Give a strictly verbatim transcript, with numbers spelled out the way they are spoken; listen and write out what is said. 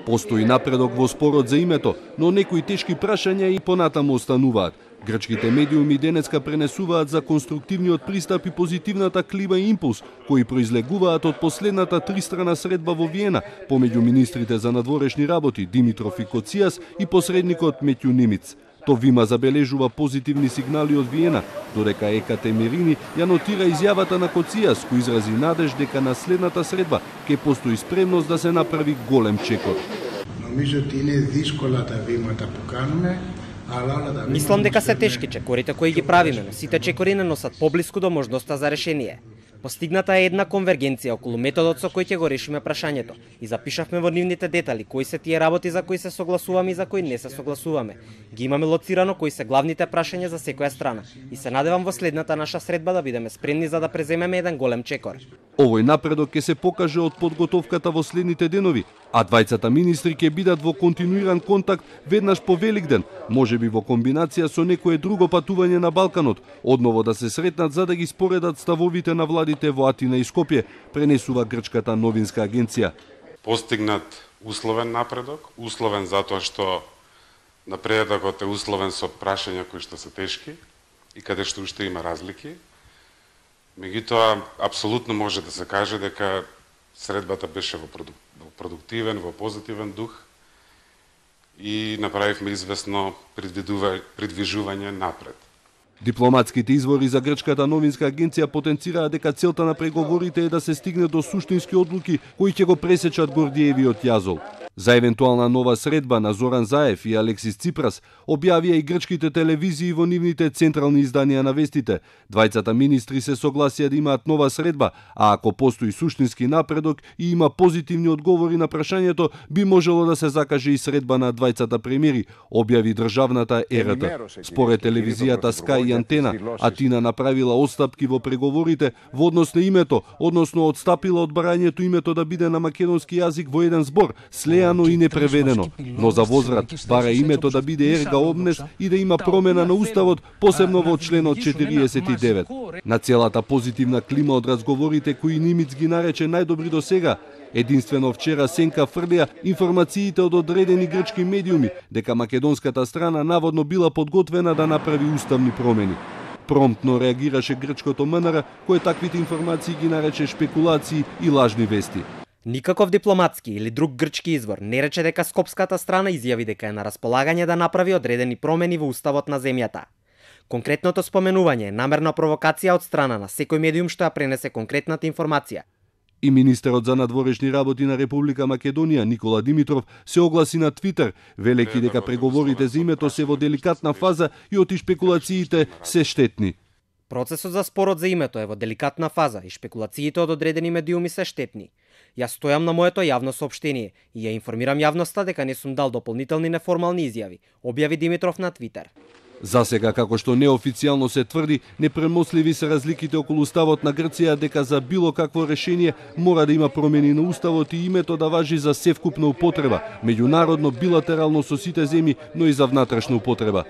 Постои напредок во спорот за името, но некои тешки прашања и понатаму остануваат. Грчките медиуми денеска пренесуваат за конструктивниот пристап и позитивната клима и импулс, кои произлегуваат од последната тристрана средба во Виена помеѓу министрите за надворешни работи Димитров и Коцијас и посредникот Метју Нимиц. Товима забележува позитивни сигнали од Виена, додека Ека Темерини ја нотира изјавата на Коцијас, кој изрази надеж дека на следната средба ќе постои спремност да се направи голем чекор. Мислам дека се тешки чекорите кои ги правиме, но сите чекори не носат поблиску до можноста за решение. Постигната е една конвергенција околу методот со кој ќе го решиме прашањето и запишавме во нивните детали кои се тие работи за кои се согласуваме и за кои не се согласуваме. Ги имаме лоцирано кои се главните прашања за секоја страна и се надевам во следната наша средба да бидеме спремни за да преземеме еден голем чекор. Овој напредок ќе се покаже од подготовката во следните денови, а двајцата министри ќе бидат во континуиран контакт веднаш по Великден, можеби во комбинација со некое друго патување на Балканот, одново да се сретнат за да ги споредат ставовите на владите во Атина и Скопје, пренесува грчката новинска агенција. Постигнат условен напредок, условен затоа што напредокот е условен со прашања кои што се тешки и каде што уште има разлики. Меѓутоа, апсолутно може да се каже дека средбата беше во продуктивен, во позитивен дух и направивме известно придвижување напред. Дипломатските извори за грчката новинска агенција потенцираат дека целта на преговорите е да се стигне до суштински одлуки кои ќе го пресечат Гордиевиот јазол. За евентуална нова средба на Зоран Заев и Алексис Ципрас објавија и грчките телевизии во нивните централни изданија на вестите. Двајцата министри се согласија да имаат нова средба, а ако постои суштински напредок и има позитивни одговори на прашањето, би можело да се закаже и средба на двајцата премиери, објави државната РТ. Според телевизијата Sky и Антена, Атина направила отстапки во преговорите во однос на името, односно отстапила од барањето името да биде на македонски јазик во еден збор, слеано и непреведено, но за возврат бара името да биде ерга омнес и да има промена на уставот, посебно во членот четириесет и девет. На целата позитивна клима од разговорите кои Нимиц ги нарече најдобри до сега, единствено вчера сенка фрлија информациите од одредени грчки медиуми дека македонската страна наводно била подготвена да направи уставни промени. Промптно реагираше грчкото МНР, кој таквите информации ги нарече шпекулации и лажни вести. Никаков дипломатски или друг грчки извор не рече дека скопската страна изјави дека е на располагање да направи одредени промени во уставот на земјата. Конкретното споменување е намерна провокација од страна на секој медиум што ја пренесе конкретната информација. И министерот за надворешни работи на Република Македонија Никола Димитров се огласи на Твитер, велејќи дека преговорите за името се во деликатна фаза и оти шпекулациите се штетни. Процесот за спорот за името е во деликатна фаза и шпекулациите од одредени медиуми се штетни. Јас стојам на моето јавно соопштение и ја информирам јавноста дека не сум дал дополнителни неформални изјави, објави Димитров на Твитер. За сега, како што неофицијално се тврди, непремосливи се разликите околу уставот на Грција дека за било какво решение мора да има промени на уставот и името да важи за севкупна употреба, меѓународно, билатерално со сите земји, но и за внатрешна употреба.